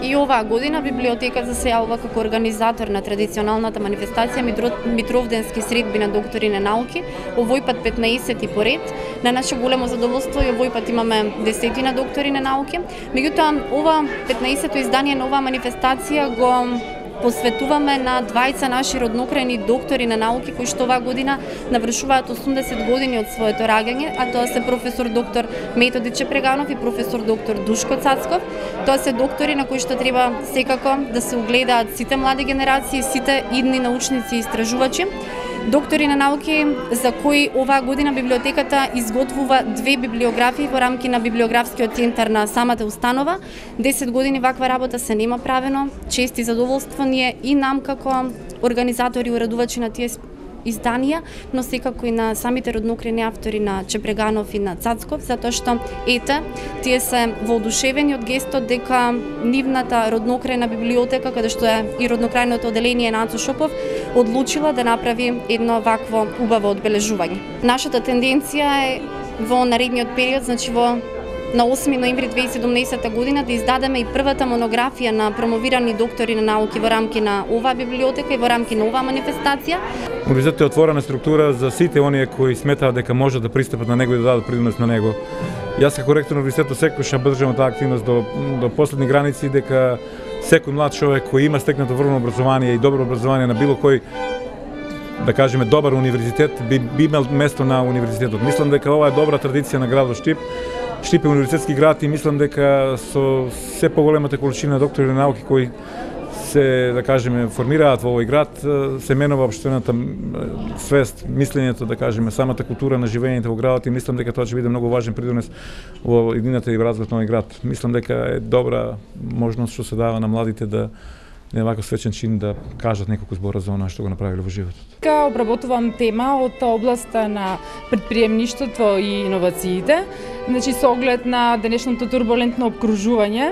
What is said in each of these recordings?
И оваа година библиотеката се јавува како организатор на традиционалната манифестација Митровденски средби на доктори на науки, овој пат 15 поред. На наше големо задоволство и овој пат имаме 10 доктори на науки. Меѓутоа, ова 15-то издание на оваа манифестација го посветуваме на двајца наши роднокрајни доктори на науки кои што оваа година навршуваат 80 години од своето раѓање, а тоа се професор доктор Методи Чепреганов и професор доктор Душко Цацков. Тоа се доктори на кои што треба секако да се угледаат сите млади генерации, сите идни научници и истражувачи. Доктори на науки за кои оваа година библиотеката изготвува 2 библиографии во рамки на библиографскиот центар на самата установа. 10 години ваква работа се нема правено. Чест и задоволство ни е и нам како организатори и уредувачи на тие изданија, но секако и на самите роднокрајни автори на Чепреганов и на Цацков, затоа што тие се воодушевени од гестот дека нивната роднокрајна библиотека, каде што е и роднокрајното оделение на Ацо Шопов, одлучила да направи едно вакво убаво одбележување. Нашата тенденција е во наредниот период, значи на 8 ноември 2017 година да издадеме и првата монографија на промовирани доктори на науки во рамки на оваа библиотека и во рамки на оваа манифестација. Универзитетот е отворена структура за сите оние кои сметаат дека може да пристапат на него и да дадат принос на него. Јас како ректор на универзитетот секогаш поддржувам таа активност до последни граници, дека секој млад човек кој има стекнато врвно образование и добро образование на било кој, да кажеме, добар универзитет, би имал место на универзитетот. Мислам дека ова е добра традиција на градот Штип. Штип е универзитетски град и мислам дека со се поголемата количина доктори на науки кои се, да кажеме, формираат во овој град, се менува општената свест, мислењето, да кажеме, самата култура на живењето во градот и мислам дека тоа ќе биде многу важен придонес во иднината и развојот на овој град. Мислам дека е добра можност што се дава на младите да на ваков свечен чин да кажат неколку збора за она што го направиле во животот. Така обработувам тема од областа на претприемништвото и иновациите, значи со оглед на денешното турбулентно обкружување,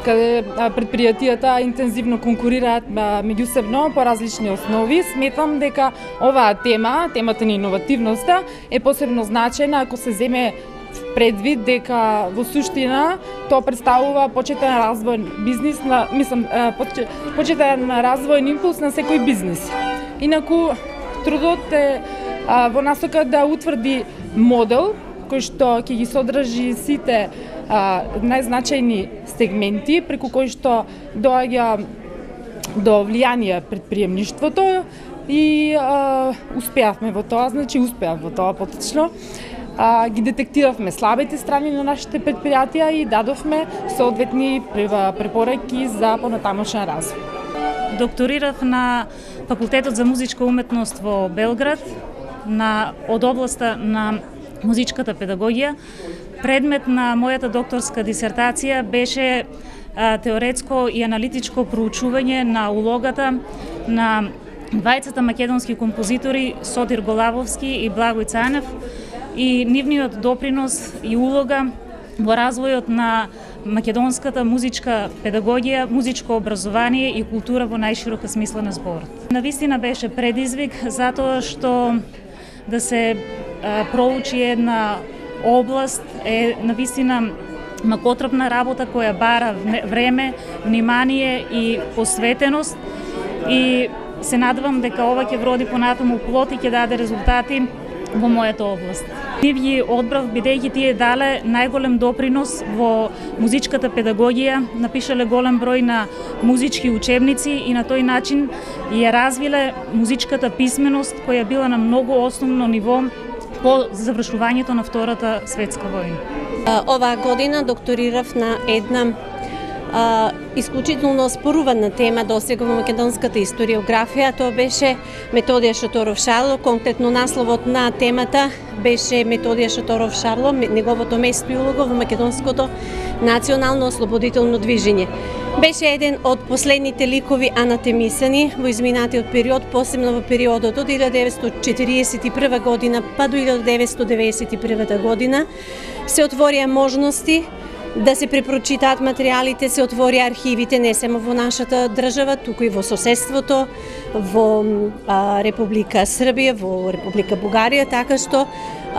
каде предпријатијата интензивно конкурираат меѓусебно по различни основи. Сметам дека оваа темата на иновативноста е посебно значајна ако се земе предвид дека во суштина тоа представува почетен развој бизнис на почетен развојен импулс на секој бизнис. Инаку трудот е во насока да утврди модел кој што ќе ги содржи сите најзначајни сегменти преку кои што доаѓа до влијание предприемништвото и успеавме во тоа, значи успеав во тоа поточно. Ги детектиравме слабите страни на нашите предпријатија и дадовме соодветни препораки за понатамошен развој. Докторирав на Факултетот за музичка уметност во Белград од областа на музичката педагогија. Предмет на мојата докторска дисертација беше теоретско и аналитичко проучување на улогата на двајцата македонски композитори Сотир Голавовски и Благој Цанев и нивниот допринос и улога во развојот на македонската музичка педагогија, музичко образование и култура во најширока смисла на зборот. Навистина беше предизвик затоа што да се проучи една област е навистина макотрпна работа која бара време, внимание и посветеност и се надевам дека ова ќе вроди понатаму плод и ќе даде резултати во мојата област. Нив ги одбрав бидејќи тие дале најголем допринос во музичката педагогија, напишале голем број на музички учебници и на тој начин ја развиле музичката писменост која била на многу основно ниво по завршувањето на Втората светска војна. Оваа година докторирав на една исклучително спорувана тема досега во македонската историографија. Тоа беше Методија Шаторов Шарло. Конкретно насловот на темата беше Методија Шаторов Шарло, неговото место и улога во македонското национално ослободително движење. Беше еден од последните ликови анатемисани во изминатиот период, посебно во периодот од 1941 година па до 1991 година. Се отворија можности да се препрочитаат материјалите, се отвори архивите не само во нашата држава, туку и во соседството, во Република Србија, во Република Бугарија, така што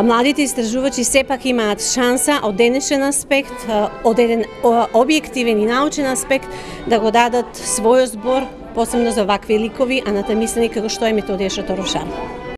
младите истражувачи сепак имаат шанса од денешен аспект, од еден објективен и научен аспект да го дадат својот збор, посебно за вакви ликови анатомисани како што е Методија Шаторов Шарло.